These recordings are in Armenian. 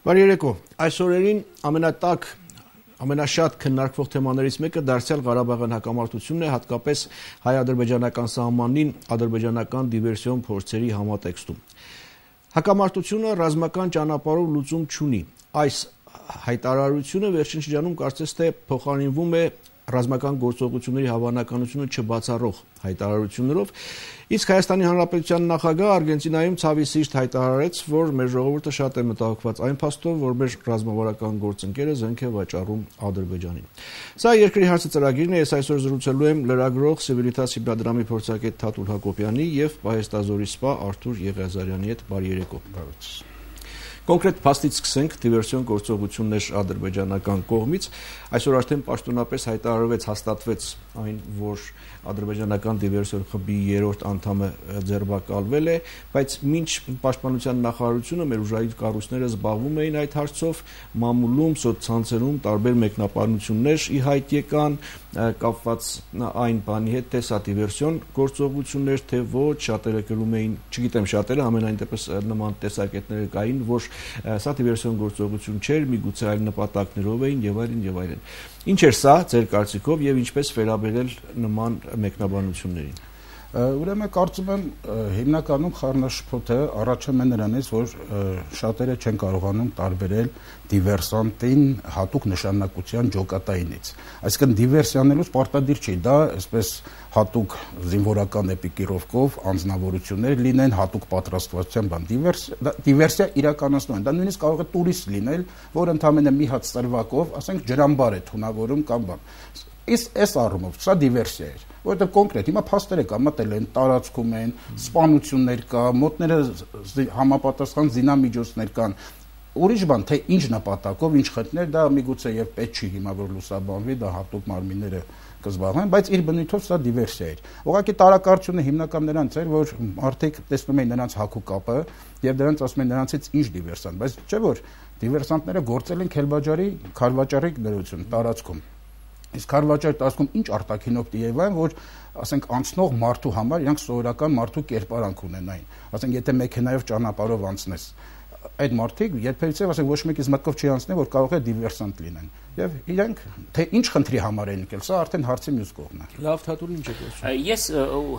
Բարի երեկո, այս օրերին ամենաշատ քննարկվող թեմաներից մեկը դարձյալ Ղարաբաղյան հակամարտությունն է, հատկապես հայ-ադրբեջանական սահմանին ադրբեջանական դիվերսիոն փորձերի համատեքստում։ Հակամարտությունը ռազմական ճանապարհով լուծում չունի։ Այս հայտարարությունը վերջին շրջանում կարծես թե փոխարինվում է ռազմական գործողությունների հավանականությունը չբացառող հայտարարություններով, իսկ Հայաստանի Հանրապետության նախագահ Արգենտինայում ցավի սիրտ հայտարարեց, որ մեր ժողովուրդը շատ է մտահոգված այն փաստով, որ մեր ռազմավարական գործընկերը զենք է վաճառում Ադրբեջանին։ Սա երկրի հարցը ծրագիրն է, ես այսօր զրուցելու եմ լրագրող Civitas հիմնադրամի փորձագետ Թաթուլ Հակոբյանի եւ պահեստազորի սպա Արթուր Եղիազարյանի հետ։ Բարի երեկո։ Կոնկրետ փաստից սկսենք դիվերսիոն գործողություններ ադրբեջանական կողմից։ Այսօր արդեն պաշտոնապես հայտարարվեց, հաստատվեց այն, որ ադրբեջանական դիվերսիոն խմբի 3-րդ անդամը ձերբակալվել է, բայց մինչ պաշտպանության նախարարությունը մեր ուժային կառույցները զբաղվում էին այդ հարցով, մամուլում, սոցցանցերում տարբեր մեկնաբանություններ ի հայտ եկան, կապված այն բանի հետ, թե սա դիվերսիոն գործողություններ, թե ոչ, շատերը գրում էին, չգիտեմ շատերը, ամենայն դեպս նման տեսակետներ կային, որ սա դիվերսիոն գործողություն չէր, միգուցե այլ նպատակներով էին եւ այլն եւ այլն։ Ինչ էր սա ձեր կարծիքով եւ ինչպես վերաբերել նման մեկնաբանություններին։ Ուրեմն կարծում եմ հիմնականում խառնաշփոթը առաջանում է նրանից, որ շատերը չեն կարողանում տարբերել դիվերսանտին հատուկ նշանակության ջոկատայինից։ Այսինքն դիվերսիանելուց պարտադիր չի դա այսպես հատուկ զինվորական էպիկիրովկով անձնավորություններ լինեն, հատուկ պատրաստվածության բան։ Դիվերսիա իրականացնում են։ Դա նույնիսկ կարող է տուրիստ լինել, որ ընդամենը մի հատ ծրվակով, ասենք ջրամբար է թունավորում կամ բան։ Իսկ այս առումով սա դիվերսիա էր, որովհետև կոնկրետ հիմա փաստերը կա, մտել են, տարածքում են, սպանություններ կա, մոտները համապատասխան զինամիջոցներ կան։ Ուրիշ բան, թե ինչ նպատակով, ինչ խնդիրներ, դա միգուցե եւ պետք չի հիմա որ լուսաբանվի, դա հատուկ մարմինները կզբաղվեն, բայց իր բնույթով սա դիվերսիա էր։ Ուղղակի տարակարծությունը հիմնական նրանց էր, որ արդեն տեսնում էին նրանց հակու կապը եւ դրանց ասում են նրանցից ինչ դիվերսանտ, բայց չէ որ դիվերսանտները գործել են Քարվաճարի դրություն տարածքում։ Իսկ Քարվաճարի տարածքում ինչ արտաքինով տիեվան, որ ասենք անցնող մարդու համար իրանք սովորական մարդու կերպարանք ունենային։ Ասենք եթե մեքենայով ճանապարհով անցնես, այդ մարդիկ երբևիցե ասենք ոչ մեկից մտքով չի անցնի, որ կարող է դիվերսանտ լինեն։ Եվ իրենք թե ինչ խնդրի համար են եկել, սա արդեն հարցի մյուս կողմն է։ Լավ, Թաթուլ, ինչ է խոսում։ Ես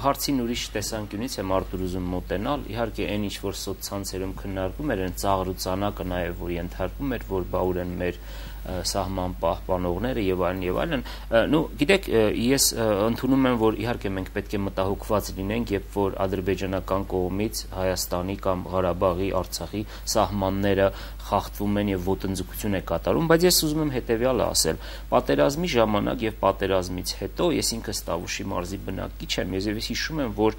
հարցին ուրիշ տեսանկյունից եմ Արտուր ուզում մոտենալ, իհարկե այն ինչ որ սոցցանցերում քննարկում էր, այն ծաղրուցանակը նաև որ ենթարկում էր, որ բաուր են մեր սահման պահպանողները եւ այլն, գիտեք, ես ընդունում եմ, որ իհարկե մենք պետք է մտահոգված լինենք, երբ որ ադրբեջանական կողմից Հայաստանի կամ Ղարաբաղի, Արցախի սահմանները խախտվում են եւ ոտնձգություն է կատարում, բայց ես ուզում եմ հետեւյալը ասել. պատերազմի ժամանակ եւ պատերազմից հետո ես ինքս Տավուշի մարզի բնակիչ եմ, ես հիշում եմ, որ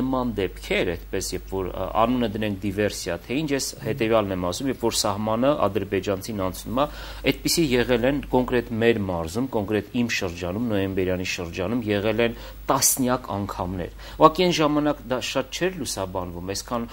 նման դեպքեր, այդպես երբ որ անունը դնենք դիվերսիա, թե ինչ, ես հետեւյալն եմ ասում, երբ որ սահմանը ադրբեջանցին անցնում է, այդպիսի եղել են կոնկրետ մեր մարզում, կոնկրետ իմ շրջանում, նոյեմբերյանի շրջանում եղել են տասնյակ անգամներ։ Ուղղակի այն ժամանակ դա շատ չէր լուսաբանվում, այսքան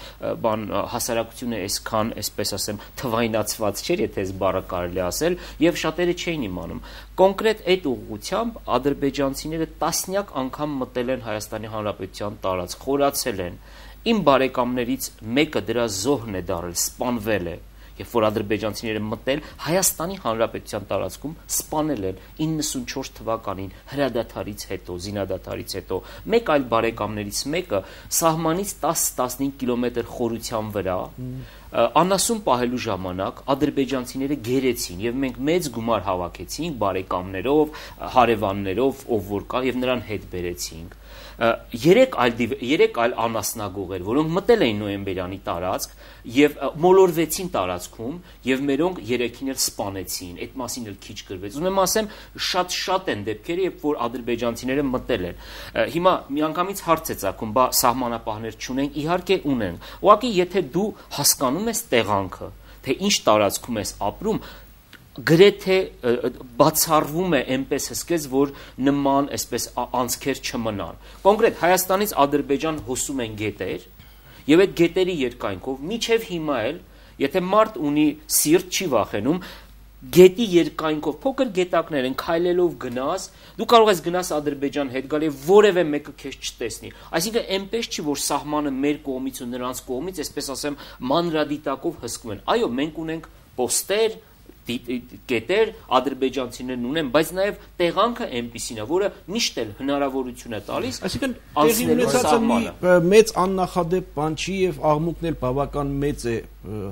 բան հասարակությունը այսքան, այսպես ասեմ, թվայնացված չէր, եթե այս բառը կարելի ասել, եւ շատերը չէին իմանում։ Կոնկրետ այդ ուղղությամբ ադրբեջանցիները տասնյակ անգամ մտել են Հայաստանի Հանրապետության տարածք, խորացել են։ Իմ բարեկամներից մեկը դրա զոհն է դարել, սպանվել է։ Երբ որ ադրբեջանցիները մտել Հայաստանի Հանրապետության տարածքում սպանել են 94 թվականին հրադադարից հետո, զինադադարից հետո, մեկ այլ բարեկամներից մեկը սահմանից 10-15 կիլոմետր խորության վրա անասուն պահելու ժամանակ ադրբեջանցիները գերեցին եւ մենք մեծ գումար հավաքեցինք բարեկամներով, հարևաններով, ով որ կա եւ նրան հետ բերեցինք։ Երեք այլ անասնագողեր, որոնք մտել էին նոյեմբերյանի տարածք եւ մոլորվեցին տարածքում եւ մերոնք երեքին էլ սպանեցին, այդ մասին էլ քիչ գրվեց։ Ուզում եմ ասեմ, շատ են դեպքերը, երբ որ ադրբեջանցիները մտել են։ Հիմա միանգամից հարց է ծագում, բա սահմանապահներ չունենք, իհարկե ունենք։ Ուղղակի եթե դու հասկանում ես տեղանքը, թե ինչ տարածքում ես ապրում, գրեթե բացառվում է այնպես հսկեց, որ նման այսպես անցքեր չմնան։ Կոնկրետ Հայաստանից Ադրբեջան հոսում են գետեր, եւ այդ գետերի երկայնքով միջև հիմա էլ, եթե մարդ ունի սիրտ, չի վախենում, գետի երկայնքով փոքր գետակներ են, քայլելով գնաս, դու կարող ես գնաս Ադրբեջան հետ գալ եւ որևէ մեկը քեզ չտեսնի։ Այսինքն այնպես չի, որ սահմանը մեր կողմից ու նրանց կողմից, այսպես ասեմ, մանրադիտակով հսկվում են։ Այո, մենք ունենք պոստեր, կետեր ադրբեջանցիներն ունեն, բայց նաև տեղանքը այնպիսին է, որը միշտ էլ հնարավորություն է տալիս անցնելու սահմանը։ Մեծ աննախադեպ բան չի եւ աղմուկն էլ բավական մեծ է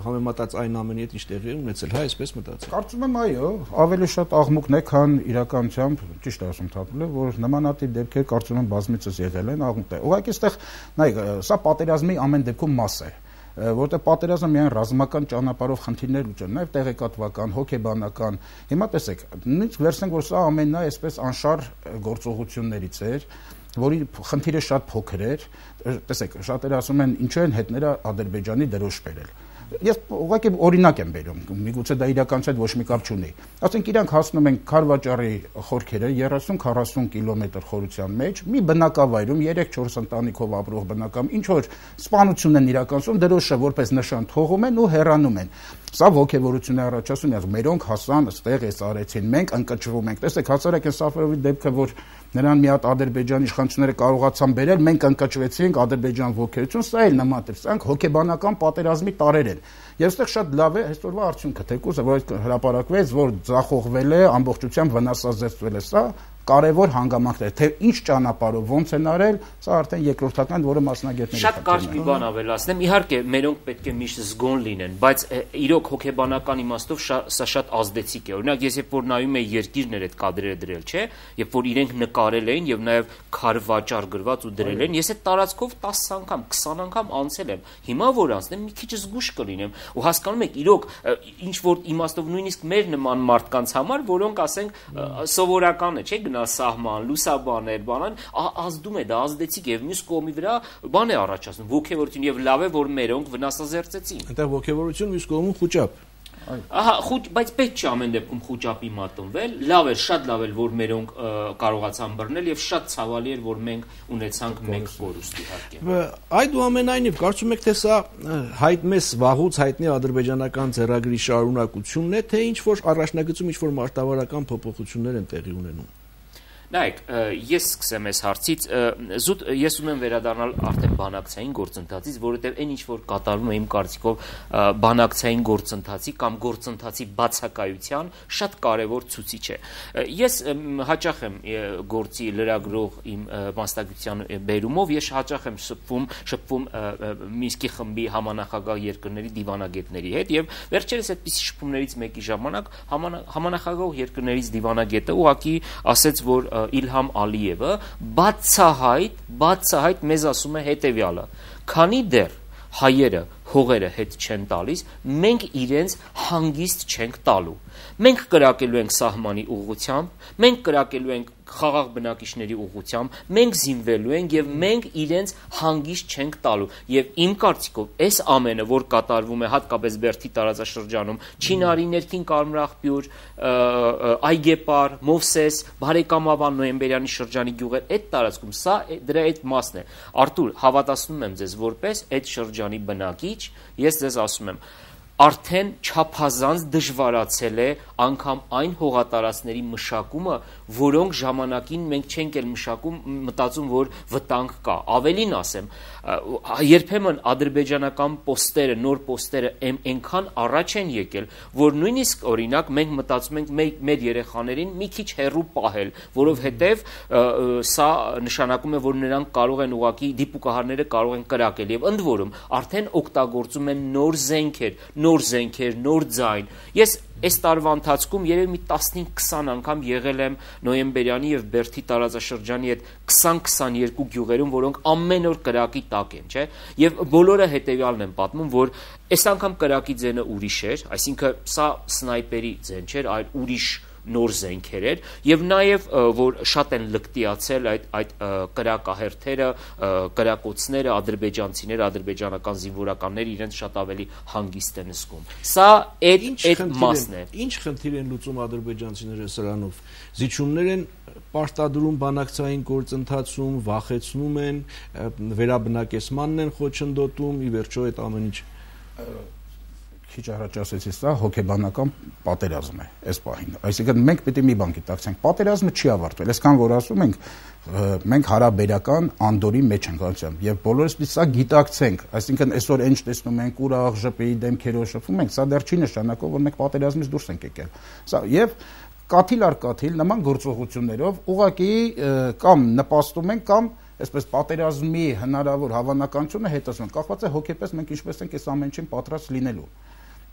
համեմատած այն ամենի հետ, ինչ տեղի է ունեցել, հա, այսպես մտածել։ Կարծում եմ, այո, ավելի շատ աղմուկն է, քան իրականությամբ, ճիշտ է ասում Թաթուլը, որ նմանատիպ դեպքեր կարծում եմ բազմիցս եղել են, աղմուկ է։ Ուղղակի այստեղ, նայեք, սա պատերազմի ամեն դեպքում մաս է, որտեղ պատերազմը միայն ռազմական ճանապարհով խնդիրներ լուծել, նաև տեղեկատվական, հոգեբանական։ Հիմա տեսեք, նույնիսկ վերցնենք, որ սա ամենն է այսպես անշար գործողություններից էր, որի խնդիրը շատ փոքր էր։ Տեսեք, շատերը ասում են, ինչու են հետները Ադրբեջանի դրոշ բերել։ Ես ուղղակի օրինակ եմ բերում, միգուցե դա իրականության հետ ոչ մի կապ չունի։ Ասենք իրանք հասնում են Քարվաճառի խորքերը 30-40 կիլոմետր խորության մեջ, մի բնակավայրում 3-4 ընտանիքով ապրող բնակամ, ինչ որ սպանություն են իրականացում, դրոշը որպես նշան թողում են ու հեռանում են։ Սա ոգևորություն է առաջացնում, ասում մերոնք հասան, այստեղ էս արեցին, մենք ընկճվում ենք։ Տեսեք, հացարակ են Սաֆարովի դեպքը, որ նրան մի հատ Ադրբեջանի իշխանությունները կարողացան բերել, մենք ընկճվեցինք, Ադրբեջան ոգևորություն, սա էլ նման է, սրանք հոգեբանական պատերազմի տարեր են։ Եվ այստեղ շատ լավ է այսօրվա արդյունքը, թեկուզ որ հրապարակվեց, որ ձախողվել է, ամբողջությամբ վնասազերծվել է, սա կարևոր հանգամանքներ, թե ինչ ճանապարհով ոնց են արել, սա արդեն երկրորդական, որը մասնագետների շատ կարճ մի բան ավելացնեմ, իհարկե մերոնք պետք է միշտ զգոն լինեն, բայց իրոք հոգեբանական իմաստով սա շատ ազդեցիկ է։ Օրինակ ես երբ որ նայում եի երկիրներ այդ կադրերը դրել, չէ, երբ որ իրենք նկարել էին եւ նաեւ քարվաճառ գրված ու դրել են, ես այդ տարածքով 10 անգամ, 20 անգամ անցել եմ։ Հիմա որ անցնեմ, մի քիչ զգուշ կլինեմ ու հասկանում եք, իրոք ինչ որ իմաստով նույնիսկ մեր նման մարդկանց համար, որոնք ասենք սովորական է, չէ, սահման, լուսաբաներ, բանան, ազդում է, դա ազդեցիկ եւ մյուս կողմի վրա բան է առաջացնում, ոգևորություն եւ լավ է, որ մերոնք վնասազերծեցին։ Այնտեղ ոգևորություն, մյուս կողմում խոճապ։ Ահա, բայց պետք չի ամեն դեպքում խոճապի մատնվել, լավ էր, շատ լավ էր, որ մերոնք կարողացան բռնել եւ շատ ցավալի էր, որ մենք ունեցանք մեկ կորուստ իհարկե։ Այդուամենայնիվ կարծում եք, թե սա մեզ վաղուց հայտնի ադրբեջանական ձեռագրի շարունակությունն է, թե ինչ որ առաջնագծում ինչ որ մարտավարական փոփոխություններ են տեղի ունենում։ Նայեք, ես սկսեմ այս հարցից, զուտ ես ուզում վերադառնալ արդեն բանակցային գործընթացից, որովհետև այն ինչ որ կատարվում է իմ կարծիքով բանակցային գործընթացի կամ գործընթացի բացակայության շատ կարևոր ցուցիչ է։ Ես հաճախ եմ գործի լրագրող իմ մասնագիտության բերումով, ես հաճախ եմ շփվում Մինսկի խմբի համանախագահ երկրների դիվանագետների հետ եւ վերջերս այդպիսի շփումներից մեկի ժամանակ համանախագահ երկրներից դիվանագետը ուղղակի ասեց, որ Իլհամ Ալիևը բացահայտ մեզ ասում է հետևյալը. քանի դեռ հայերը հողերը հետ չեն տալիս, մենք իրենց հանգիստ չենք տալու։ Մենք կրակելու ենք սահմանի ուղղությամբ, մենք կրակելու ենք խաղաղ բնակիչների ուղղությամբ, մենք զինվելու ենք եւ մենք իրենց հանգիստ չենք տալու։ Եվ իմ կարծիքով այս ամենը, որ կատարվում է հատկապես Բերդի տարածաշրջանում, Չինարի ներքին Կարմրախպյուր, Այգեպար, Մովսես, Բարեկամավան, Նոյեմբերյանի շրջանի գյուղեր, այդ տարածքում սա դրա այդ մասն է։ Արթուր, հավատացնում եմ ձեզ, որպես այդ շրջանի բնակիչ, ես ձեզ ասում եմ, արդեն չափազանց դժվարացել է անգամ այն հողատարածքների մշակումը, որոնք ժամանակին մենք չենք էլ մտածում, որ վտանգ կա։ Ավելին ասեմ, երբեմն ադրբեջանական պոստերը, նոր պոստերը այնքան առաջ են եկել, որ նույնիսկ օրինակ մենք մտածում ենք մեր երեխաներին մի քիչ հեռու պահել, որովհետև սա նշանակում է, որ նրանք կարող են ուղղակի դիպուկահարները կարող են կրակել եւ ընդ որում արդեն օգտագործում են նոր զենքեր, նոր ձայն։ Ես այս տարվա ընթացքում երևի մի 15-20 անգամ եղել եմ Նոյեմբերյանի եւ Բերդի տարածաշրջանի այդ 20-22 գյուղերում, որոնք ամեն օր կրակի տակ են, չէ՞։ Եվ բոլորը հետեւյալն են պատմում, որ այս անգամ կրակի ձենը ուրիշ էր, այսինքն սա սնայպերի ձեն չէր, այլ ուրիշ նոր զենքեր էր եւ նաեւ որ շատ են լկտիացել այդ կրակահերթերը, կրակոցները, ադրբեջանցիները, ադրբեջանական զինվորականները իրենց շատ ավելի հանգիստ են զգում։ Սա այդ մասն է։ Ինչ խնդիր են լուծում ադրբեջանցիները սրանով։ Զիջումներ են պարտադրում բանակցային գործընթացում, վախեցնում են, վերաբնակեցմանն են խոչընդոտում, ի վերջո այդ ամեն ինչ քիչ առաջ ասեցի, սա հոգեբանական պատերազմ է այս պահին։ Այսինքն մենք պետք է մի բան գիտակցենք, պատերազմը չի ավարտվել, այսքան որ ասում ենք, մենք հարաբերական անդորի մեջ ենք անցնում եւ բոլորս պիտի սա գիտակցենք, այսինքն այսօր ինչ տեսնում ենք ուրախ ԺՊ-ի դեմքերով շփվում ենք, սա դեռ չի նշանակում, որ մենք պատերազմից դուրս ենք եկել։ Սա եւ կաթիլ առ կաթիլ նման գործողություններով ուղղակի կամ նպաստում են կամ այսպես պատերազմի հնարավոր հավանականությունը հետացնում, կախված է հոգեպես մենք ինչպես ենք այս ամեն ինչին պատրաստ լինելու։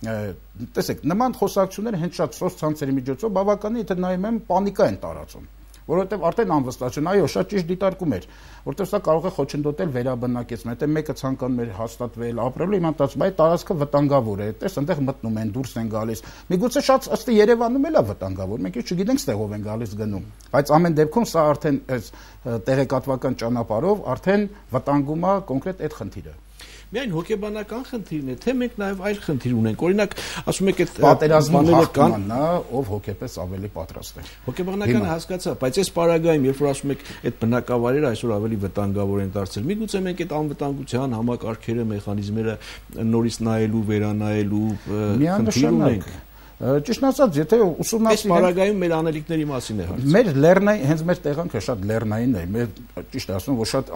Տեսեք, նման խոսակցությունները հենց շատ սոցցանցերի միջոցով բավականին եթե նայում եմ պանիկա են տարածում, որովհետև արդեն անվստահություն, այո, շատ ճիշտ դիտարկում էր, որովհետև սա կարող է խոչընդոտել վերաբնակեցումը, եթե մեկը ցանկանում էր հաստատվել, ապրել, իմաստացում, այդ տարածքը վտանգավոր է, տես այնտեղ մտնում են, դուրս են գալիս։ Միգուցե շատ ըստ Երևանում էլ է վտանգավոր, մենք ինչ չգիտենք ստեղով են գալիս գնում, բայց ամեն դեպքում սա արդեն այս տեղեկատվական ճանապարհով արդեն վտանգում է կոնկրետ այդ խնդիրը։ Միայն հոգեբանական խնդիրն է, թե մենք նաև այլ խնդիր ունենք։ Օրինակ, ասում եք այդ պատերազմի հաղթանն է, ով հոգեպես ավելի պատրաստ է։ Հոգեբանականը հասկացա, բայց այս պարագայում, երբ որ ասում եք այդ բնակավայրերը այսօր ավելի վտանգավոր են դարձել, միգուցե մենք այդ անվտանգության համակարգերը, մեխանիզմները նորից նայելու, վերանայելու խնդիր ունենք։ Ճիշտ ասած, եթե ուսումնասիրենք, այս պարագայում մեր անելիքների մասին է հարցը։ Մեր լեռնային, հենց մեր տեղանքը շատ լեռնային է, մեր ճիշտ ասում, որ շատ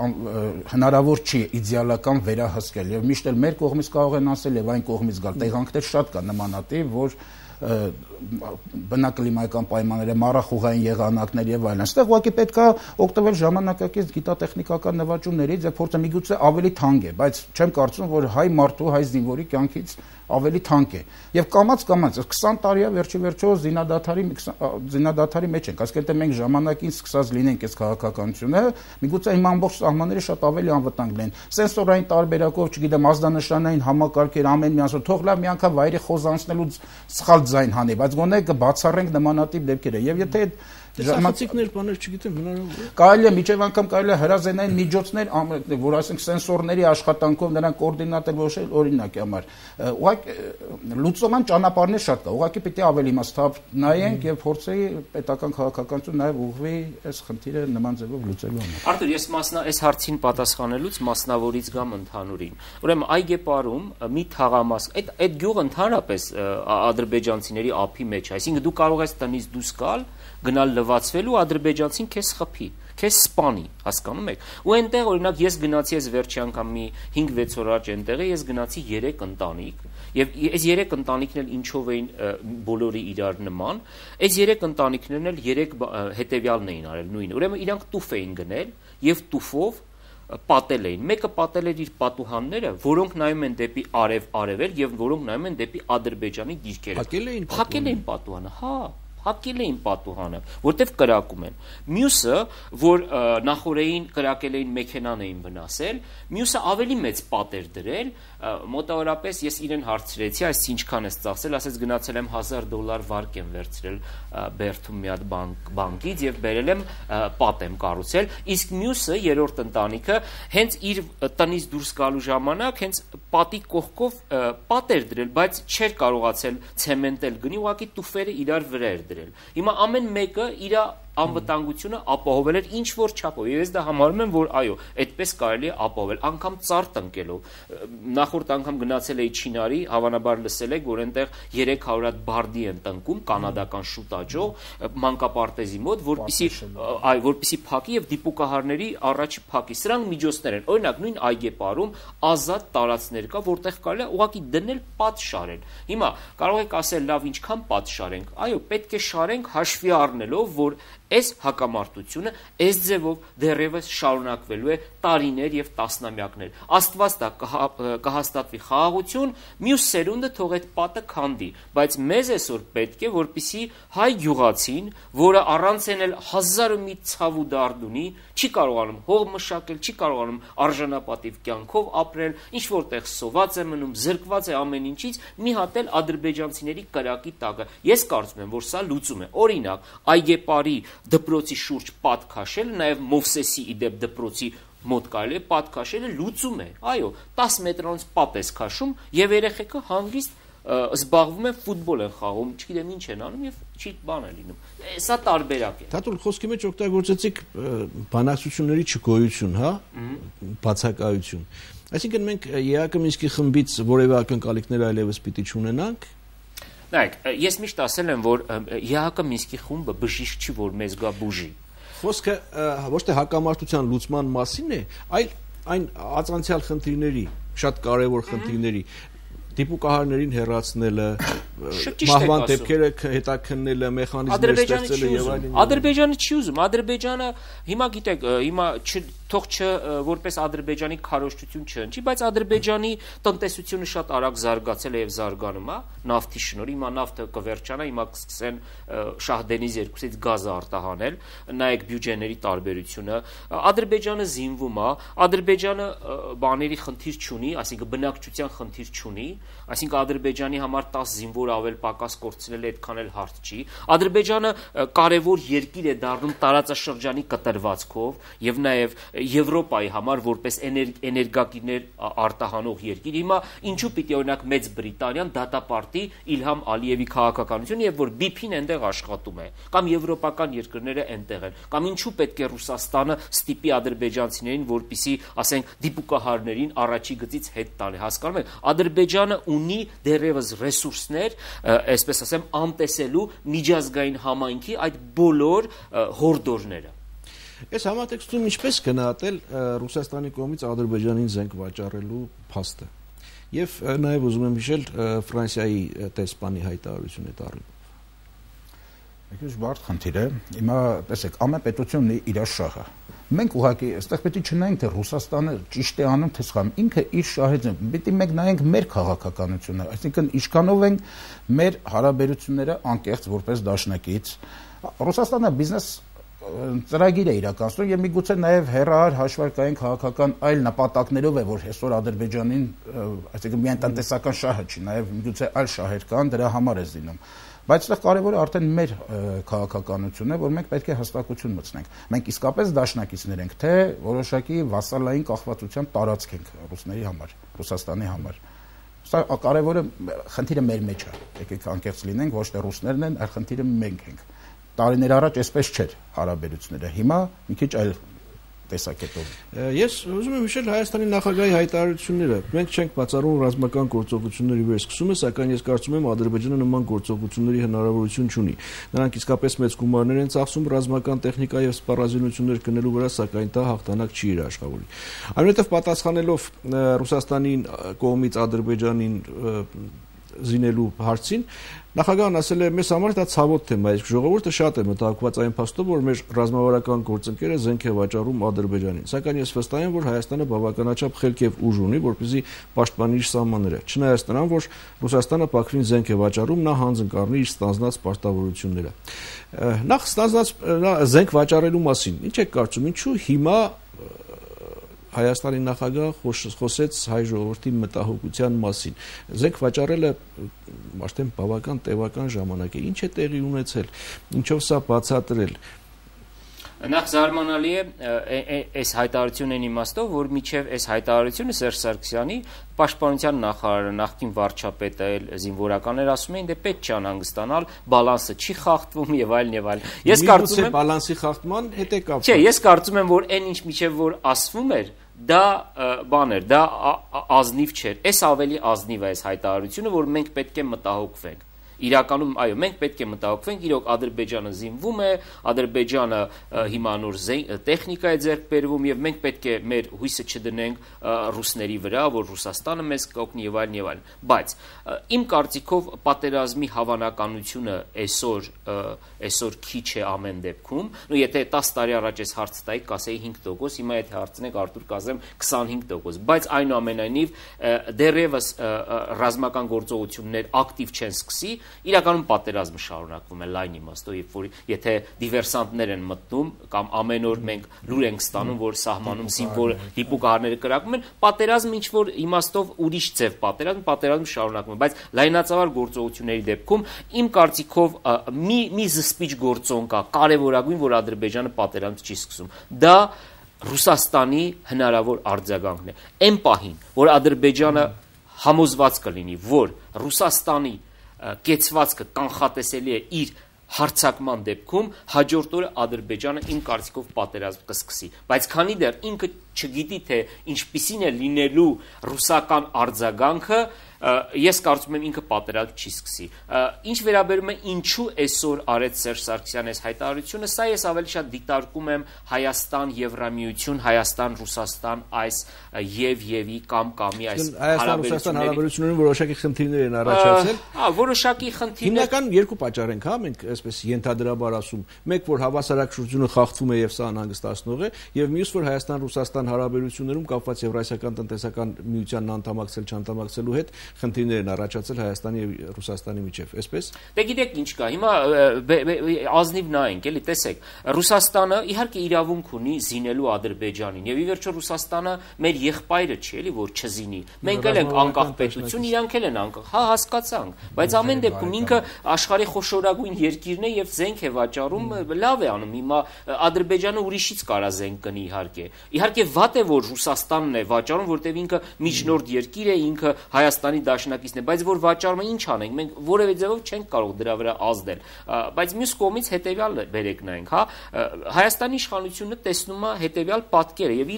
հնարավոր չի իդեալական վերահսկել եւ միշտ էլ մեր կողմից կարող են ասել եւ այն կողմից գալ տեղանքներ շատ կա նմանատիպ, որ բնակլիմայական պայմանները, մառախուղային եղանակներ եւ այլն։ Այստեղ ուղղակի պետք է օգտվել ժամանակակից գիտատեխնիկական նվաճումներից եւ փորձը միգուցե ավելի թանկ է, բայց չեմ կարծում, որ հայ մարդու, հայ զինվորի կյանքից ավելի թանկ է։ Եվ կամաց 20 տարի է վերջիվերջո զինադադարի մեջ ենք, այսինքն մենք ժամանակին սկսած լինենք այս քաղաքականությունը, միգուցե հիմա ամբողջ սահմանները շատ ավելի անվտանգ լինեն։ Սենսորային տարբերակով, չգիտեմ, ազդանշանային համակարգեր ամեն մի ասում, թող լավ մի անգամ վայրի խոզանցնելուց սխալ ձայն հանի, բայց գոնե կբացառենք նմանատիպ դեպքերը։ Եւ եթե ժամանակներ բաներ չգիտեմ հնարավոր է։ Կարելի է միջև անգամ կարելի է հրազենային միջոցներ, որ ասենք սենսորների աշխատանքով նրանք կոորդինատել որոշել օրինակի համար։ Ուղղակի լուծման ճանապարհներ շատ կա։ Ուղղակի պիտի ավելի իմաստով նայենք եւ փորձեի պետական քաղաքականություն նաեւ ուղղվի այս խնդիրը նման ձևով լուծելու համար։ Արտուր, ես այս հարցին պատասխանելուց մասնավորից գամ ընդհանուրին։ Ուրեմն Այգեպարում մի թաղամաս, այդ գյուղը ընդհանրապես ադրբեջանցիների ափի մեջ է, այսինքն դու կարող ես տնից դուրս գալ, գնալ լվացվելու, ադրբեջանցին քեզ խփի, քեզ սպանի, հասկանում եք։ Ու այնտեղ օրինակ ես գնացի այս վերջի անգամ մի 5-6 օր առաջ այնտեղը ես գնացի 3 ընտանիք եւ այս 3 ընտանիքն էլ ինչով էին բոլորի իրար նման, այս 3 ընտանիքներն էլ 3 հետեւյալն էին արել նույնը։ Ուրեմն իրանք տուֆ էին գնել եւ տուֆով պատել էին։ Մեկը պատել էր իր պատուհանները, որոնք նայում են դեպի արևել եւ որոնք նայում են դեպի Ադրբեջանի դիրքերը։ Փակել էին պատուհանը, հա։ Հակել էին պատուհանը, որտեվ կրակում են։ Մյուսը, որ նախորդին կրակել էին մեքենան էին վնասել, մյուսը ավելի մեծ պատ էր դրել, մոտավորապես ես իրեն հարցրեցի, այս ինչքան ես ծախսել, ասեց գնացել եմ $1000 վարկ եմ վերցրել Բերթում մի հատ բանկից եւ բերել եմ պատ եմ կառուցել, իսկ մյուսը երրորդ ընտանիքը հենց իր տնից դուրս գալու ժամանակ հենց պատի կողքով պատ էր դրել, բայց չէր կարողացել ցեմենտել գնի, ուղղակի տուֆերը իրար վրա էր դրել։ Հիմա ամեն մեկը իր անվտանգությունը ապահովել էր ինչ որ չափով։ Ես դա համարում եմ, որ այո, այդպես կարելի է ապահովել, անգամ ծառ տնկելով։ Նախորդ անգամ գնացել էի Չինարի, հավանաբար լսել եք, որ այնտեղ 300 հատ բարդի են տնկում, կանադական շուտաճող, մանկապարտեզի մոտ, որպեսզի փակի եւ դիպուկահարների առաջի փակի։ Սրանք միջոցներ են։ Օրինակ նույն Այգեպարում ազատ տարածքներ կա, որտեղ կարելի է ուղղակի դնել պատ շարել։ Հիմա կարող եք ասել, լավ, ինչքան պատ շարենք։ Այո, պետք է շարենք հաշվի առնելով, որ այս հակամարտությունը այս ձևով դեռևս շարունակվելու է տարիներ եւ տասնամյակներ։ Աստված դա կհաստատվի խաղաղություն, մյուս սերունդը թող այդ պատը քանդի, բայց մեզ այսօր պետք է, որպեսզի հայ գյուղացին, որը առանց էլ 1001 ցավ ու դարդ ունի, չի կարողանում հող մշակել, չի կարողանում արժանապատիվ կյանքով ապրել, ինչ որտեղ սոված է մնում, զրկված է ամեն ինչից, մի հատ էլ ադրբեջանցիների կրակի տակը։ Ես կարծում եմ, որ սա լուծում է։ Օրինակ, Այգեպարի դպրոցի շուրջ պատ քաշելը, նաև Մովսեսի իդեպ դպրոցի մոտ կարելի է պատ քաշելը լուծում է։ Այո, 10 մետրանոց պատ ես քաշում եւ երեխեքը հանգիստ զբաղվում են ֆուտբոլ են խաղում, չգիտեմ ինչ են անում եւ չի բան է լինում։ Սա տարբերակ է։ Թաթուլ խոսքի մեջ օգտագործեցիք բանակցությունների չգոյություն, հա, բացակայություն։ Այսինքն մենք ԵԱԿ Մինսկի խմբից որևէ ակնկալիքներ այլևս պիտի չունենանք։ Նայեք, ես միշտ ասել եմ, որ ԵԱԿ Մինսկի խումբը բժիշկ չի, որ մեզ գա բուժի։ Խոսքը ոչ թե հակամարտության լուծման մասին է, այլ այն ածանցյալ խնդիրների, շատ կարևոր խնդիրների, դիպուկահարներին հեռացնելը, մահվան դեպքերը հետաքննելը, մեխանիզմներ ստեղծելը եւ այլն։ Ադրբեջանը չի ուզում, Ադրբեջանը հիմա գիտեք, հիմա թող որպես Ադրբեջանի քարոզչություն չընչի, բայց Ադրբեջանի տնտեսությունը շատ արագ զարգացել է եւ զարգանում է նավթի շնորհիվ, հիմա նավթը կվերջանա, հիմա կսկսեն Շահդենիզ 2-ից գազը արտահանել, նայեք բյուջեների տարբերությունը, Ադրբեջանը զինվում է, Ադրբեջանը բաների խնդիր չունի, այսինքն բնակչության խնդիր չունի, այսինքն Ադրբեջանի համար 10 զինվոր ավել պակաս կորցնել այդքան էլ հարց չի։ Ադրբեջանը կարևոր երկիր է դառնում տարածաշրջանի կտրվածքով եւ նաեւ Եվրոպայի համար որպես էներգակիրներ արտահանող երկիր։ Հիմա ինչու պիտի օրինակ Մեծ Բրիտանիան դատապարտի Իլհամ Ալիևի քաղաքականությունը եւ որ BP-ն այնտեղ աշխատում է, կամ եվրոպական երկրները այնտեղ են, կամ ինչու պետք է Ռուսաստանը ստիպի ադրբեջանցիներին, որպիսի, ասենք, դիպուկահարներին առաջի գծից հետ տալի, հասկանում եք, Ադրբեջանը ունի դեռևս ռեսուրսներ, այսպես ասեմ, անտեսելու միջազգային համայնքի այդ բոլոր հորդորները։ Այս համատեքստում ինչպես գնահատել Ռուսաստանի կողմից Ադրբեջանին զենք վաճառելու փաստը։ Եվ նաև ուզում եմ հիշել Ֆրանսիայի տեսփանի հայտարարությունը տառին։ Եկեք բարդ խնդիր է։ Հիմա տեսեք, ամեն պետություն ունի իր շահը։ Մենք ուղղակի այստեղ պետք է չնայենք թե Ռուսաստանը ճիշտ է անում թե սխալ, ինքը իր շահերն է։ Պետք է մենք նայենք մեր քաղաքականությունը, այսինքն ինչքանով են մեր հարաբերությունները անկեղծ որպես դաշնակից։ Ռուսաստանը բիզնես ծրագիր է իրականացնում եւ միգուցե նաեւ հերահար հաշվարկային քաղաքական այլ նպատակներով է, որ այսօր Ադրբեջանին, այսինքն միայն տնտեսական շահը չի, նաեւ միգուցե այլ շահեր կան, դրա համար է զինում։ Բայց այստեղ կարևորը արդեն մեր քաղաքականությունն է, որ մենք պետք է հստակություն մտցնենք։ Մենք իսկապես դաշնակիցներ ենք, թե որոշակի վասալային կախվածության տարածք ենք ռուսների համար, Ռուսաստանի համար։ Սա կարևորը խնդիրը մեր մեջ է։ Եկեք անկեղծ լինենք, ոչ թե ռուսներն են, այլ խնդիրը մենք ենք։ Տարիներ առաջ այսպես չէր հարաբերությունները, հիմա մի քիչ այլ տեսակետով։ Ես ուզում եմ հիշել Հայաստանի նախագահի հայտարարությունները։ Մենք չենք բացառում ռազմական գործողությունների վերսկսումը, սակայն ես կարծում եմ Ադրբեջանը նման գործողությունների հնարավորություն չունի։ Նրանք իսկապես մեծ գումարներ են ծախսում ռազմական տեխնիկա եւ սպառազինություններ գնելու վրա, սակայն դա հաղթանակ չի երաշխավորի։ Այնուհետև պատասխանելով Ռուսաստանի կողմից Ադրբեջանին զինելու հարցին, նախագահն ասել է, մեզ համար դա ցավոտ թեմա է, իսկ ժողովուրդը շատ է մտահոգված այն փաստով, որ մեր ռազմավարական գործընկերը զենք է վաճառում Ադրբեջանին։ Սակայն ես վստահ եմ, որ Հայաստանը բավականաչափ խելք եւ ուժ ունի, որպեսզի պաշտպանի իր սահմանները։ Չնայած նրան, որ Ռուսաստանը Բաքվին զենք է վաճառում, նա հանձն կառնի իր ստանձնած պարտավորությունները։ Նախ ստանձնած զենք վաճառելու մասին, ինչ եք կարծում, ինչու հիմա Հայաստանի նախագահը խոսեց հայ ժողովրդի մտահոգության մասին։ Զենք վաճառելը արդեն բավական տևական ժամանակ է։ Ինչ է տեղի ունեցել, ինչով սա բացատրել։ Նախ զարմանալի է այս հայտարարությունն իմաստով, որ միջև այս հայտարարությունը Սերժ Սարգսյանի պաշտպանության նախարարը, նախկին վարչապետը, զինվորականներ ասում էին, դե պետք չի անհանգստանալ, բալանսը չի խախտվում եւ այլն եւ այլն։ Ես կարծում եմ բալանսի խախտման հետ է կապված։ Չէ, ես կարծում եմ, որ այն ինչ միջև որ ասվում էր, դա բան էր, դա ազնիվ չէր։ Այս ավելի ազնիվ է այս հայտարարությունը, որ մենք պետք է մտահոգվենք։ Իրականում, այո, մենք պետք է մտահոգվենք, իրոք Ադրբեջանը զինվում է, Ադրբեջանը հիմա նոր տեխնիկա է ձեռք բերվում եւ մենք պետք է մեր հույսը չդնենք ռուսների վրա, որ Ռուսաստանը մեզ կօգնի եւ այլն եւ այլն։ Բայց իմ կարծիքով պատերազմի հավանականությունը այսօր քիչ է ամեն դեպքում։ Ու եթե 10 տարի առաջ այս հարցը տայի, կասեի 5%, հիմա եթե հարցնեք Արտուր կասեմ 25%, բայց այնուամենայնիվ դեռևս ռազմական գործողություններ ակտիվ չեն սկսի, իրականում պատերազմը շարունակվում է լայն իմաստով, երբ որ եթե դիվերսանտներ են մտնում կամ ամեն օր մենք լուր ենք ստանում, որ սահմանում զինվոր դիպուկահարները կրակում են, պատերազմը ինչ որ իմաստով ուրիշ ձև պատերազմը շարունակվում է, բայց լայնածավալ գործողությունների դեպքում իմ կարծիքով մի զսպիչ գործոն կա, կարևորագույն, որ Ադրբեջանը պատերազմ չի սկսում։ Դա Ռուսաստանի հնարավոր արձագանքն է։ Այն պահին, որ Ադրբեջանը համոզված կլինի, որ Ռուսաստանի կեցվածքը կանխատեսելի է իր հարցակման դեպքում հաջորդ օրը Ադրբեջանը իմ կարծիքով պատերազմ կսկսի, բայց քանի դեռ ինքը չգիտի թե ինչպիսին է լինելու ռուսական արձագանքը, ես կարծում եմ ինքը պատերազմ չի սկսի։ Ինչ վերաբերում է ինչու այսօր արեց Սերժ Սարգսյանը այս հայտարարությունը, սա ես ավելի շատ դիտարկում եմ Հայաստան-Եվրամիություն, Հայաստան-Ռուսաստան այս եւ-ի կամ-կամի այս Հայաստան-Ռուսաստան հարաբերություններում որոշակի խնդիրներ են առաջացել։ Որոշակի խնդիրներ։ Հիմնական երկու պատճառ ենք, մենք այսպես ենթադրաբար ասում, մեկ որ հավասարակշռությունը խախտվում է եւ սա անհանգստացնող է, եւ մյուս որ Հայաստան-Ռուսաստան հարաբերություններում կապված Եվրասիական տնտեսական միությանն անդամակցել չանդամակցելու հետ խնդիրներ են առաջացել Հայաստանի եւ Ռուսաստանի միջեւ, այսպես։ Դե գիտեք ինչ կա, հիմա ազնիվ նայենք, էլի տեսեք, Ռուսաստանը իհարկե իրավունք ունի զինելու Ադրբեջանին եւ ի վերջո Ռուսաստանը մեր եղբայրը չի, էլի որ չզինի։ Մենք էլ ենք անկախ պետություն, իրանք էլ են անկախ, հա հասկացանք, բայց ամեն դեպքում ինքը աշխարհի խոշորագույն երկիրն է եւ զենք է վաճառում, լավ է անում։ Հիմա Ադրբեջանը ուրիշից կարա զենք կնի իհարկե։ Իհարկե վատ է որ Ռուսաստանն է վաճառում, որտեղ ինքը միջնորդ երկիր է, ինքը Հայաստանի դաշնակիցն է, բայց որ վաճառումը ինչ անենք, մենք որևէ ձևով չենք կարող դրա վրա ազդել։ Բայց մյուս կողմից հետեւյալը բերեք նայենք, հա, Հայաստանի իշխանությունը տեսնում է հետեւյալ պատկերը եւ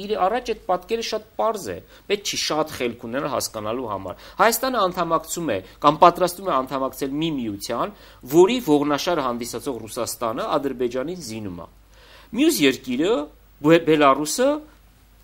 իր առաջ այդ պատկերը շատ պարզ է։ Պետք չի շատ խելք ունենալ հասկանալու համար։ Հայաստանը անդամակցում է կամ պատրաստում է անդամակցել մի միության, որի ողնաշարը հանդիսացող Ռուսաստանը Ադրբեջանին զինում է։ Մյուս երկիրը Բելարուսը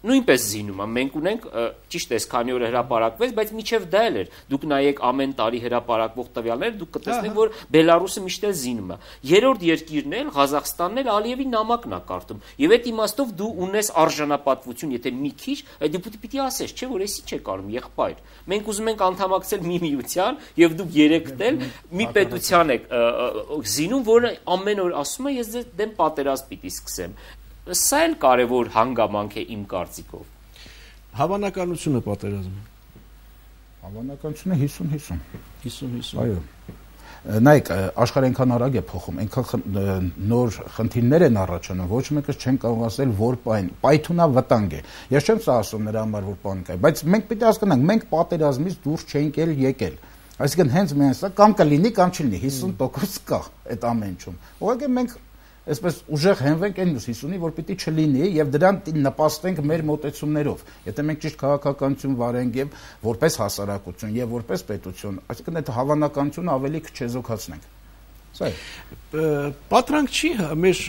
նույնպես զինում է։ Մենք ունենք ճիշտ է, քանի օր հրապարակվեց, բայց միջև դա էլ էր։ Դուք նայեք ամեն տարի հրապարակվող տվյալները, դուք կտեսնեք, որ Բելարուսը միշտ էլ զինում է։ Երրորդ երկիրն էլ Ղազախստանն էլ Ալիևի նամակն է կարտում։ Եվ այդ իմաստով դու ունես արժանապատվություն, եթե մի քիչ, դու պիտի ասես, չէ՞ որ էսի չեք անում, եղբայր։ Մենք ուզում ենք անդամակցել մի միության, եւ դուք երեքդ էլ մի պետության եք զինում, որը ամեն օր ասում է, ես դեմ պատերազմ պիտի սկսեմ։ Սա էլ կարևոր հանգամանք է իմ կարծիքով։ Հավանականությունը պատերազմի։ Հավանականությունը 50-50։ 50-50։ Այո։ Նայեք, աշխարհը այնքան արագ է փոխում, այնքան նոր խնդիրներ են առաջանում, ոչ մեկը չեն կարող ասել, որ պայթունա վտանգ է։ Ես չեմ սա ասում նրա համար, որ պանիկ է, բայց մենք պիտի հասկանանք, մենք պատերազմից դուրս չենք եկել։ Այսինքն հենց միայն սա կամ կլինի, կամ չլինի, 50% կա այդ ամեն ինչում։ Ուղղակի մենք այսպես ուժեղ հենվենք այն 50-ի, որ պիտի չլինի եւ դրան նպաստենք մեր մոտեցումներով։ Եթե մենք ճիշտ քաղաքականություն վարենք եւ որպես հասարակություն եւ որպես պետություն, այսինքն այդ հավանականությունը ավելի քչեզոքացնենք։ Սա է։ Պատրանք չի մեր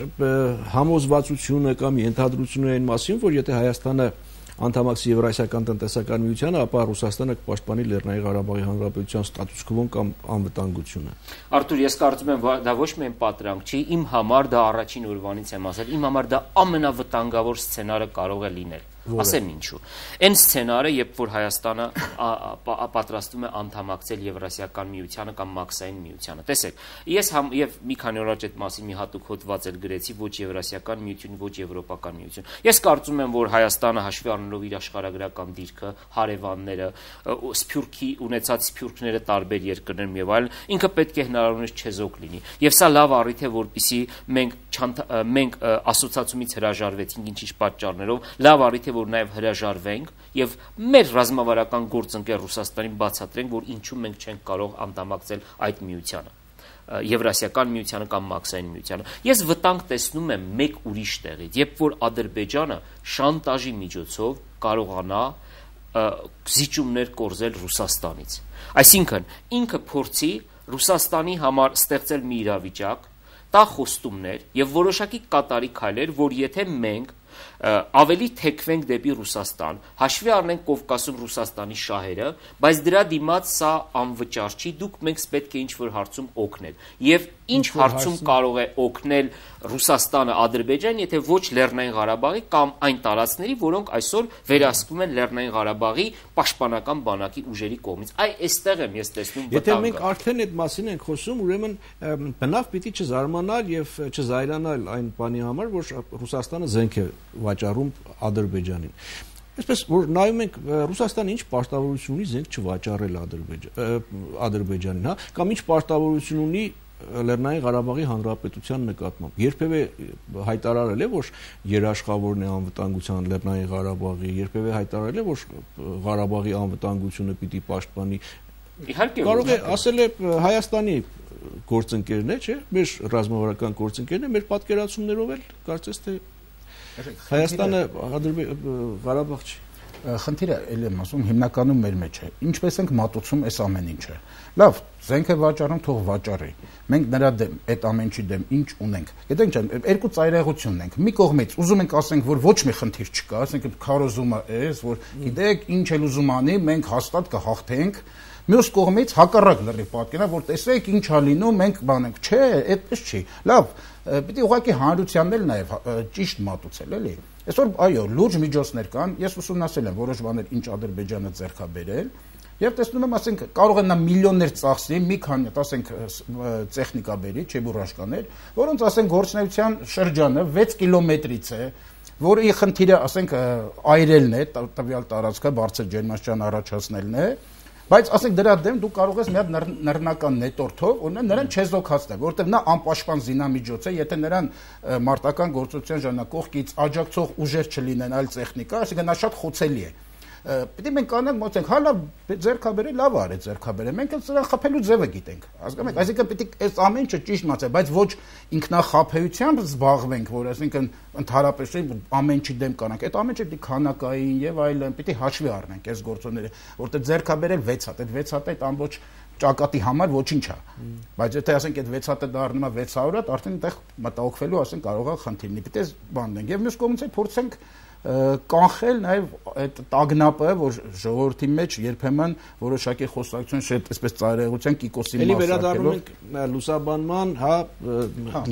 համոզվածությունը կամ ենթադրությունը այն մասին, որ եթե Հայաստանը անդամակցի Եվրասիական տնտեսական միությանը, ապա Ռուսաստանը կպաշտպանի Լեռնային Ղարաբաղի Հանրապետության ստատուս քվոն կամ անվտանգությունը։ Արթուր, ես կարծում եմ, դա ոչ միայն պատրանք չի, իմ համար դա առաջին օրվանից եմ ասել, իմ համար դա ամենավտանգավոր սցենարը կարող է լինել։ Ասեմ ինչու։ Այն սցենարը, երբ որ Հայաստանը պատրաստվում է անդամակցել Եվրասիական միությանը կամ Մաքսային միությանը։ Տեսեք, ես եւ մի քանի օր առաջ այդ մասին մի հատուկ հոդված էլ գրեցի, ոչ Եվրասիական միություն, ոչ Եվրոպական միություն։ Ես կարծում եմ, որ Հայաստանը հաշվի առնելով իր աշխարհագրական դիրքը, հարևանները, սփյուռքի ունեցած սփյուռքները տարբեր երկրներում եւ այլն, ինքը պետք է հնարավորինս չեզոք լինի։ Եվ սա լավ առիթ է, որպեսզի մենք ասոցիացիումից հրաժարվեցինք ինչ-ինչ պատճառներով, լավ առիթ է որ նաև հրաժարվենք եւ մեր ռազմավարական գործընկեր Ռուսաստանին բացատրենք, որ ինչու մենք չենք կարող անդամակցել այդ միությանը, Եվրասիական միությանը կամ Մաքսային միությանը։ Ես վտանգ տեսնում եմ մեկ ուրիշ տեղից, երբ որ Ադրբեջանը շանտաժի միջոցով կարողանա զիջումներ կորզել Ռուսաստանից։ Այսինքն ինքը փորձի Ռուսաստանի համար ստեղծել մի իրավիճակ, տա խոստումներ եւ որոշակի կատարի քայլեր, որ եթե մենք ավելի թեքվենք դեպի Ռուսաստան, հաշվի առնենք Կովկասում Ռուսաստանի շահերը, բայց դրա դիմաց սա անվճար չի, դուք մենք պետք է ինչ-որ հարցում օգնել։ Եվ ինչ հարցում կարող է օգնել Ռուսաստանը Ադրբեջան, եթե ոչ Լեռնային Ղարաբաղի կամ այն տարածքների, որոնք այսօր վերահսկվում են Լեռնային Ղարաբաղի պաշտպանական բանակի ուժերի կողմից։ Այստեղ եմ ես տեսնում վտանգը։ Եթե մենք արդեն այդ մասին ենք խոսում, ուրեմն բնավ պիտի չզարմանալ եւ չզայրանալ այն բանի համար, որ Ռուսաստանը զենք է վաճառում Ադրբեջանին։ Այսպես որ նայում ենք Ռուսաստանը ինչ պարտավորություն ունի զենք չվաճառել Ադրբեջանին, հա, կամ ինչ պարտավորություն ունի Լեռնային Ղարաբաղի Հանրապետության նկատմամբ։ Երբևէ հայտարարել է, որ երաշխավորն է անվտանգության Լեռնային Ղարաբաղի, երբևէ հայտարարել է, որ Ղարաբաղի անվտանգությունը պիտի պաշտպանի։ Իհարկե կարող է ասել է Հայաստանի գործընկերն է, չէ՞, մեր ռազմավարական գործընկերն է, մեր պատկերացումներով էլ կարծես թե Հայաստանը Ղարաբաղ չի։ Խնդիրը ելի եմ ասում հիմնականում մեր մեջ է։ Ինչպես ենք մատուցում այս ամեն ինչը։ Լավ, զենք է վաճառում, թող վաճառի։ Մենք նրա դեմ, այդ ամենի դեմ ինչ ունենք։ Գիտենք չէ, երկու ծայրահեղություն ունենք։ Մի կողմից ուզում ենք ասենք, որ ոչ մի խնդիր չկա, ասենք քարոզումը էս, որ գիտեք, ինչ էլ ուզում անի, մենք հաստատ կհաղթենք։ Մյուս կողմից հակառակ լրիվ պատկերանա, որ տեսեք ինչ ա լինում, մենք բանենք, չէ, այդպես չի։ Լավ, պիտի ուղղակի հանրությանն էլ նաև ճիշտ մատուցել, էլի։ Այսօր այո, լուրջ միջոցներ կան, ես ուսումնասիրել եմ որոշ բաներ, ինչ Ադրբեջանը ձեռք է բերել, եւ տեսնում եմ, ասենք, կարող է նա միլիոններ ծախսի, մի քանի, ասենք, տեխնիկա բերի, չեբուրաշկաներ, որոնց ասենք գործնեության շրջանը 6 կիլոմետրից է, որի խնդիրը, ասենք, այրելն է, տվյալ տարածքը բարձր ջերմաստիճան առաջացնելն է, բայց ասենք դրա դեմ դու կարող ես մի հատ նռնական նետորթով օրինակ նրան չեզոքացնել, որովհետև նա անպաշտպան զինամիջոց է, եթե նրան մարտական գործողության ժամանակ կողքից աջակցող ուժեր չլինեն, այլ տեխնիկա, այսինքն նա շատ խոցելի է։ Պիտի մենք կանենք մոտենք, հա լավ ձեռքաբերե, լավ արի ձեռքաբերե, մենք էլ սրան խփելու ձևը գիտենք, հասկանում եք, այսինքն պիտի այս ամեն ինչը ճիշտ մացե, բայց ոչ ինքնախաբեությամբ զբաղվենք, որ այսինքն ընդհանրապես ամեն ինչի դեմ կանանք, այդ ամեն ինչը պիտի քանակային եւ այլն, պիտի հաշվի առնենք այս գործոնները, որտեղ ձեռքաբերել 6 հատ, այդ 6 հատը այդ ամբողջ ճակատի համար ոչինչ է, բայց եթե ասենք այդ 6 հատը դառնում է 600 հատ, արդեն այդտեղ մտահոգվելու ասենք կարող է խնդիրնի, պիտի բանենք եւ մյուս կողմից փորձենք կանխել նաև այդ տագնապը, որ ժողովրդի մեջ երբեմն որոշակի խոսակցություն շետ այսպես ծայրահեղության կիկոսի մաս վերադառնում ենք լուսաբանման,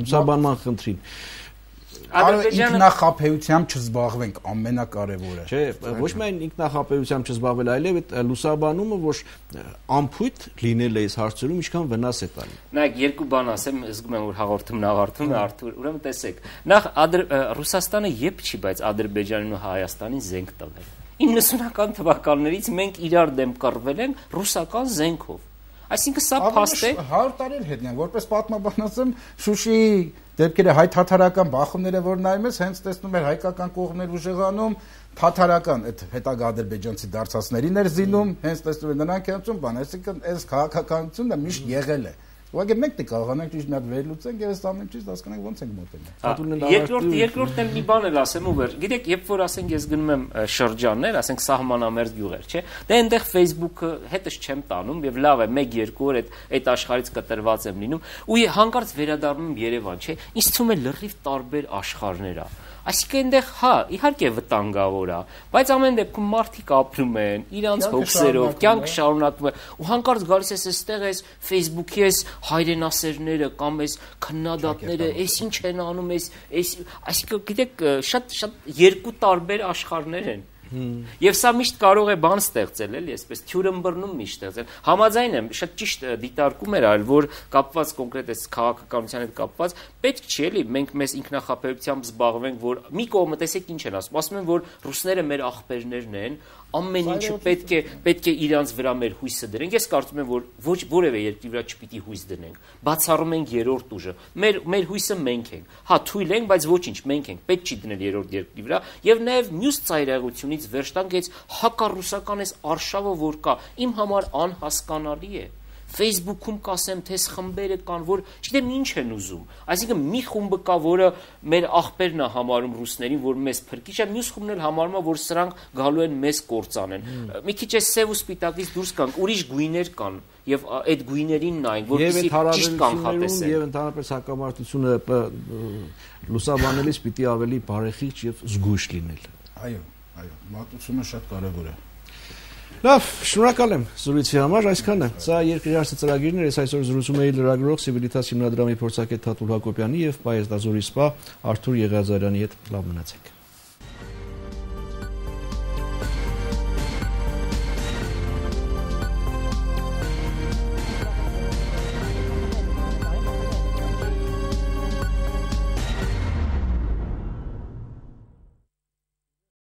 լուսաբանման խնդրին։ Ինքնախաբեությամբ չզբաղվենք ամենակարևորը։ Չէ, ոչ միայն ինքնախաբեությամբ չզբաղվել, այլև այդ լուսաբանումը, որ ամփույթ լինել է այս հարցերում, ինչքան վնաս է տալի։ Նայեք, երկու բան ասեմ, զգում եմ, որ հաղորդումն ավարտվում է, Արթուր, ուրեմն տեսեք։ Նախ Ռուսաստանը երբ չի, բայց Ադրբեջանին ու Հայաստանին զենք տվել։ 90-ական թվականներից մենք իրար դեմ կռվել ենք ռուսական զենքով։ Այսինքն սա փաստ է 100 տարի հետն են, որպես պատմաբան ասեմ, Շուշիի դեպքերը հայ-թաթարական բախումները, որ նայում ես, հենց տեսնում էր հայկական կողմներ ուժեղանում, թաթարական այդ հետագա ադրբեջանցի դարձածներին էր զինում, հենց տեսնում էր նրանք հենց բան, այսինքն այս քաղաքականությունը միշտ եղել է։ Ուղղակի մենք դե կարողանանք ճիշտ մի հատ վերլուծենք եւ այս ամեն ինչից հասկանանք ոնց ենք մոտենում։ Երկրորդն մի բան էլ ասեմ ու վեր։ Գիտեք, երբ որ ասենք ես գնում եմ շրջաններ, ասենք սահմանամերձ գյուղեր, չէ՞, դե այնտեղ Facebook-ը հետս չեմ տանում եւ լավ է 1-2 օր այդ աշխարհից կտրված եմ լինում ու հանկարծ վերադառնում եմ Երևան, չէ՞։ Ինձ թվում է լրիվ տարբեր աշխարհներ է։ Այսինքն այնտեղ հա, իհարկե վտանգավոր է, բայց ամեն դեպքում մարդիկ ապրում են, իրանց հոգսերով, կյանք շարունակվում է, ու հանկարծ գալիս ես այստեղ այս Facebook-ի այս հայրենասերները կամ այս քննադատները, այս ինչ են անում, այսինքն գիտեք, շատ երկու տարբեր աշխարհներ են։ Եվ սա միշտ կարող է բան ստեղծել, էլի, այսպես թյուրըմբռնում միշտ ստեղծել։ Համաձայն եմ, շատ ճիշտ դիտարկում էր այլ, որ կապված կոնկրետ այս քաղաքականության հետ կապված, պետք չի էլի, մենք մեզ ինքնախաբեությամբ զբաղվենք, որ մի կողմը տեսեք ինչ են ասում են, որ ռուսները մեր ախպերներն են, ամեն ինչը պետք է իրանց վրա մեր հույսը դրենք։ Ես կարծում եմ, որ ոչ որևէ երկրի վրա չպիտի հույս դնենք։ Բացառում ենք երրորդ ուժը։ Մեր հույսը մենք ենք։ Հա, թույլ ենք, բայց ոչինչ, մենք ենք։ Պետք չի դնել երրորդ երկրի վրա, եւ նաեւ մյուս ծայրահեղությունից վերջ տանք այս հակառուսական այս արշավը, որ կա, իմ համար անհասկանալի է։ Facebook-ում կասեմ, թե խմբերը կան, որ չգիտեմ ինչ են ուզում։ Այսինքն մի խումբը կա, որը մեր ախպերն է համարում ռուսներին, որ մեզ փրկիչ է, մյուս խումբն էլ համարում է, որ սրանք գալու են մեզ կործանեն։ Մի քիչ է սև ու սպիտակից դուրս կանք, ուրիշ գույներ կան, եւ այդ գույներին նայենք, որպեսզի ճիշտ կանխատեսեն։ Եվ ընդհանրապես հակամարտությունը լուսաբանելիս պիտի ավելի բարեխիղճ եւ զգույշ լինել։ Այո, մատուցումը շատ կարեւոր է։ Լավ, շնորհակալ եմ զրույցի համար, այսքանը։ Սա երկրի հարցը ծրագիրն էր, ես այսօր զրուցում էի լրագրող Սիվիլիտաս հիմնադրամի փորձագետ Թաթուլ Հակոբյանի եւ պայեզդազորի սպա Արթուր Եղիազարյանի հետ։ Լավ մնացեք։